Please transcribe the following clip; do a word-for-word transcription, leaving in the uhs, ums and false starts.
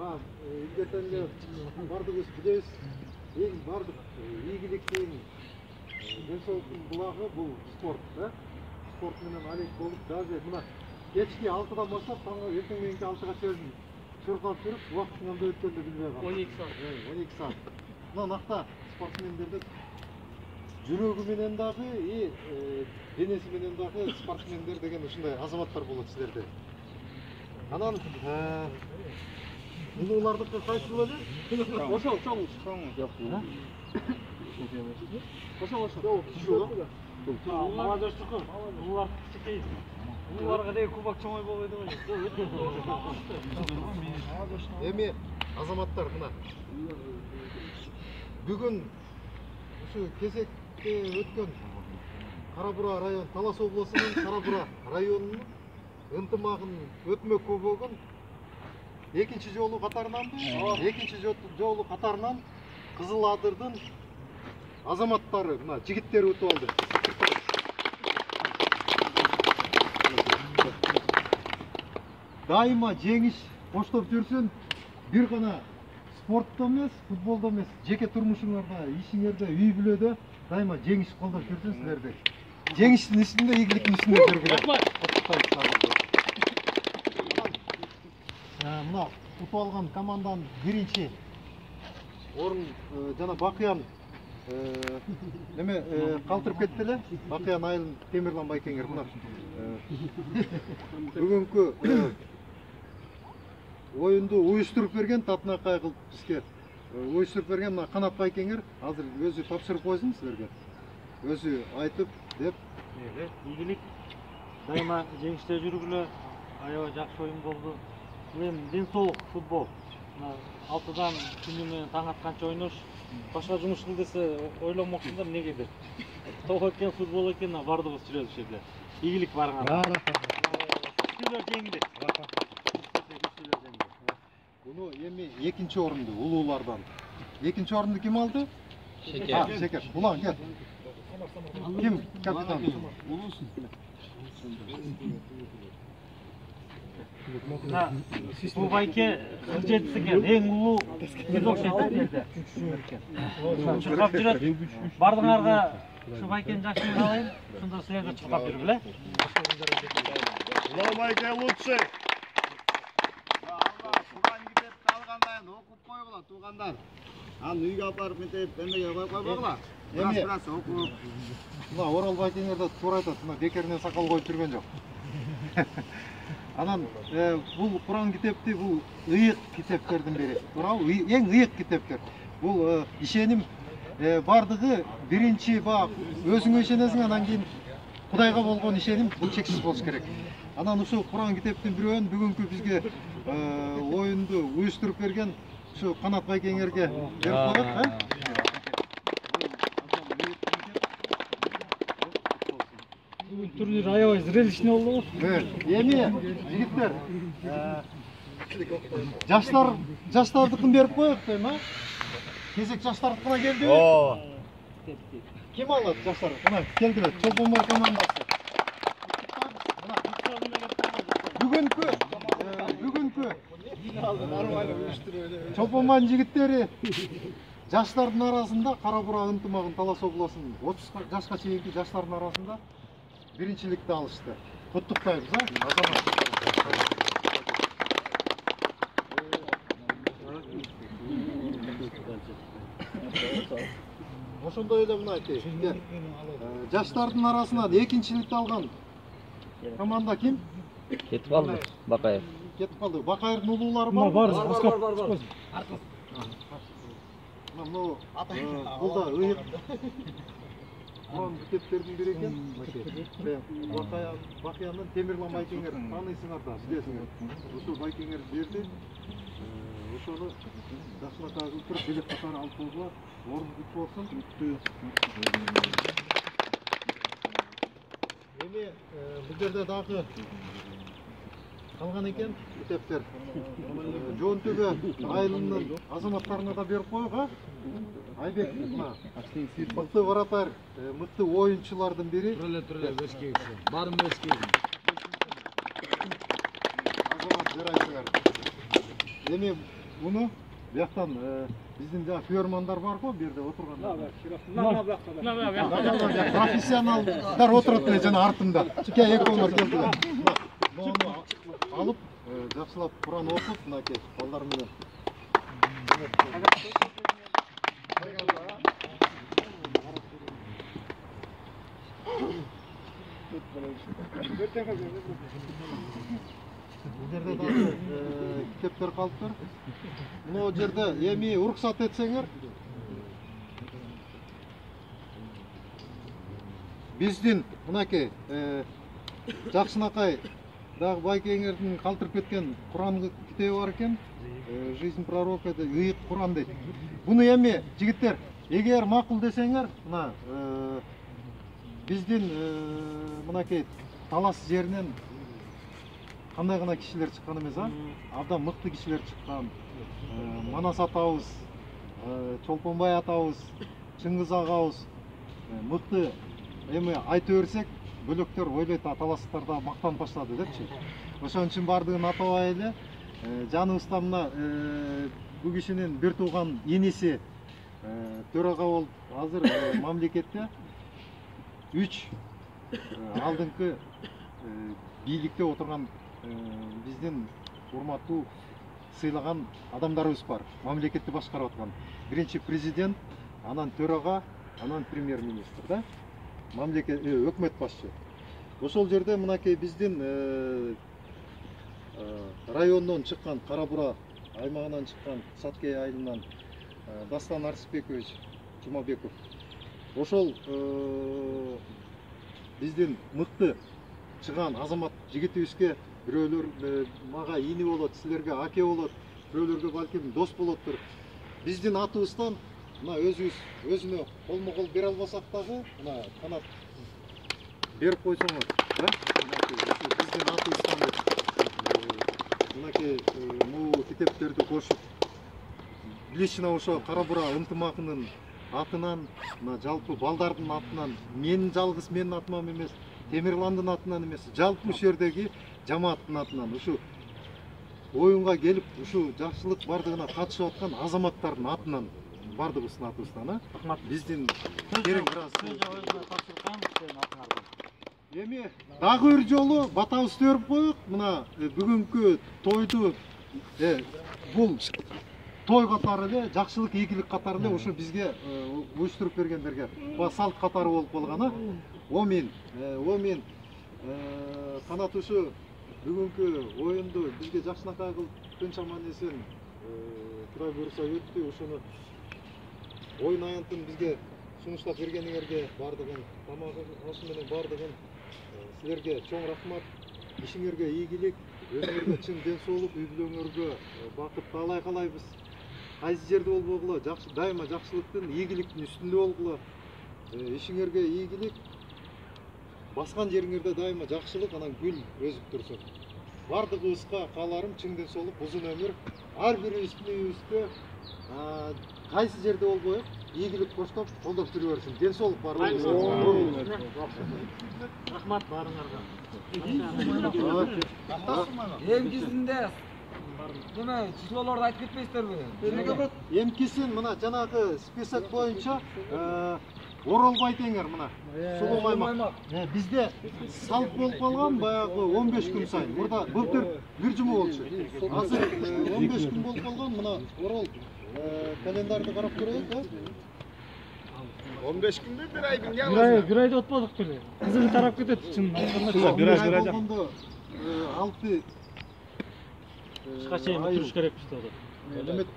илгертен эле бардыгыбыз билебиз, эң бардык ийгиликтин, ден соолуктун булагы бул спорт, да? Спорт менен алек болуп, даже мына кечки алтыдан баштап таңга эртең мененки алтыга чейин чуркалып жүрүп, убакыттын кандай өткөнүн билбей калам. он эки саат. он эки саат. Мына накта спортсмендерде жүрөгү менен дагы, и денеси менен дагы спортсмендер деген ушундай азаматтар болот силерде. Анан улуулардыкы кайсыл эле? Ошол, чоң. Жок. Ошол, ошол. Ушул. Молодежьтуку. Улуулар кичинекей. Улууларга деги кубок чоңой болбойт го. Эми азаматтар мына бүгүн ушу кезекте өткөн Кара-Бура район, Талас облусунун Кара-Бура районунун ынтымагын өтмөк көбөгүн экинчи жолу катарынанбы? Экинчи жолу катарынан Кызыл Адырдын азаматтары, мына жигиттери өтүп алды. Дайыма жеңиш коштоп жүрсүн, бир гана спортто эмес, футболдо эмес, жеке турмушуңарда, ишиңерде, үй бүлөдө дайыма жеңиш колдоп жүрсүн силерди. Жеңиштин үстүндө, ийгиликтин үстүндө жүргүлө. Мына утуп алган команданын биринчи орун жана Бакыян неме калтырып кетти эле. Бакыян Айылын Темирлан Байкеңер мына бүгүнкү оюнду уюштуруп берген, татынакай кылып бизге уюштуруп берген мына Канат Байкеңер азыр өзү тапшырып койсун силерге. Өзү айтып деп. Ийгилик дайыма жеңиште жүргүлө. Аябай жакшы оюн болду. Эми ден соолук футбол. алтыдан күнү менен таң атканча ойнош. Башка жумуш кыл десе ойломоксуңдар негедир. Ток экен, футбол экен, бардыгыбыз жүрөбүз ушул жерде. Ийгилик барыңар. Күчтүүлөр жеңди. Буну эми экинчи орунду улуулардан. Экинчи орунду ким алды? Шекер. Шекер. Улан кел. Ким капитан? Улуусун. Бул байке кырк жетиси экен, эң улуу биз окшойт жерде. Чуркап жүрөт. Бардыңарга ушу байкенин жакшылыгын каалайм. Ошондо силерде чуркап жүргүлө. Улуу байке лучший. Туган китепти алгандайын окуп койгула туугандар. Аны үйгө алып барып мынтип эмеге коюп койбогула. Эми Раз окуп. мына Орал Байкеңер да туура айтат, мына бекеринен сакал коюп жүргөн жок. Анан бул Куран китепти бул ыйык китептердин бири. Туурабы? Эң ыйык китептер. Бул ишеним бардыгы биринчи бак өзүңө ишенесиң, анан кийин Кудайга болгон ишеним бул чексиз болуш керек. Анан ушул Куран китептин бирөөнү бүгүнкү бизге оюнду уюштуруп берген ушу Канат Байкеңерге берип коет. Турнир аябай зрелищный болду. Эми жигиттер, жаштар жаштардыкын берип коелук дейм, а? Кезек жаштардыкына келди. О. Ким алат жаштар? Мына келдилер. Чолпонбай командасы. Бүгүнкү бүгүнкү Чолпонбайдын жигиттери жаштардын арасында Кара-Бура ынтымагын Талас облусунун отуз жашка чейинки жаштардын арасында биринчиликти алышты. Куттуктайбыз, а? Азамат. Ошондой эле мына айтайын. Жаштардын арасынан экинчиликти алган команда ким? Кетип калды. Бакаев. Кетип калды. Бакаевдин улуулары бар. Бар, бар, бар, бар, бар. Мына бул да ыйык Куран китептердин бири экен. Бакыяндын Темирлан Байкеңер тааныйсыңар да, билесиңер. Ушул Байкеңер берди. Ошону жакшынакай кылып туруп билет катары алып койгула. Орун бүт болсун. Эми бул жерде дагы калган экен китептер. Жоон Төбө айылынын азаматтарына да берип коек, а? Айбек, мына мыкты вратарь, мыкты оюнчулардын бири. Туреле, туреле, бешкейси. Барын бешкейси. Азамат жарайсыңар. Эми уну бияктан биздин жана фермандар барго, бу жерде отургандар. Профессионалдар отурат эле жана артында. Чике экөөлөр келдилер. Муну алып, жакшылап Куран окуп, мынакей балдар менен. Бул жерде дагы китептер калыптыр. Мына жерде эми уруксат этсеңер, биздин мынакей жакшынакай дагы байкеңердин калтырып кеткен Куран китеби бар экен. Жизнь пророка деп, ыйык Куран дейт. Буну эми жигиттер, эгер макул десеңер, мына биздин мынакей талас жеринен кандай гана кишилер чыккан эмес, а? Абдан мыкты кишилер чыккан. Манас атабыз, Чолпонбай атабыз, Чыңгыз агабыз мыкты эми айта берсек, бөлөктөр ойлойт таластарда мактанып баштады депчи. Ошон үчүн бардыгын атабай эле жаныбызда мына бул кишинин бир тууган энеси төрага болуп азыр мамлекетте үч алдыңкы бийликте отурган биздин урматтуу сыйлаган адамдарыбыз бар. Мамлекетти башкарып аткан. Биринчи президент, анан төрага, анан премьер-министр да. Мамлекет өкмөт башчы. Ошол жерде мынакей биздин райондон чыккан, Кара-Бура аймагынан чыккан Саткей айылынан Дастан Арсбекович Жумабеков. Ошол биздин мыкты чыган азамат жигитибизге бирөөлөр мага ини болот, силерге аке болот, бирөөлөргө балким дос болоттур. Биздин атыбыздан мына өзүбүз өзүнө колмо-кол бере албасак дагы, мына канат берип койсоңор, да? Биздин атыбыздан мынакей могу китептерди кошуп, лично ошо Кара-Бура ынтымагынын атынан, мына жалпы балдардын атынан, менин жалгыз менин атыман эмес, Темирландын атынан эмес, жалпы ушул жердеги жамааттын атынан, ушу оюнга келип, ушу жакшылык бардыгына катышып аткан азаматтардын атынан, бардыгыбыздын атыбыздан, а? Биздин керең раз эми дагы бир жолу батабызды берип коюк. Мына бүгүнкү тойду бул той катары эле, жакшылык, ийгилик катары эле ушу бизге уюштуруп бергендерге салт катары болуп калган, а? Омин, омин, канат ушу бүгүнкү оюнду бизге жакшынакай кылып кынчаман эсен Кудай буйруса өттү. Ошону оюн аянтын бизге сунуштап бергениңерге бардыгын, тамагы ашы менен бардыгын силерге чоң рахмат. Ишиңерге ийгилик, өзүңөргө чын ден соолук, үй бүлөңөргө бакыт каалай калайбыз. Кайсы жерде болбогула, дайыма жакшылыктын, ийгиликтин үстүндө болгула. Ишиңерге ийгилик, баскан жериңерде дайыма жакшылык, анан гүл өзүп турсун. Бардыгыбызга кааларым чың ден соолук, узун өмүр. Ар бирибиздин үйүбүздө кайсы жерде болбоюк, ийгилик коштоп, колдоп жүрө берсин. Ден соолук барлыгыбызга. Рахмат баарыңарга. Эмкисинде неме числолорду айтып кетпейсиздерби? Эмкисин мына жанагы список боюнча Оролбай теңер мына. Сулуу аймак. Бизде салт болуп калган баягы он беш күн сайын. Мурда былтыр бир жума болчу. Азыр он беш күн болуп калган. Мына Орол календарды карап көрөйүк, да? он беш күндө бир ай бир Бир ай, бир айда отпадык беле. Кызыгы тарап кетет чын. Бир ай болгондо алты Ушка чейин туруш керекпиз деп.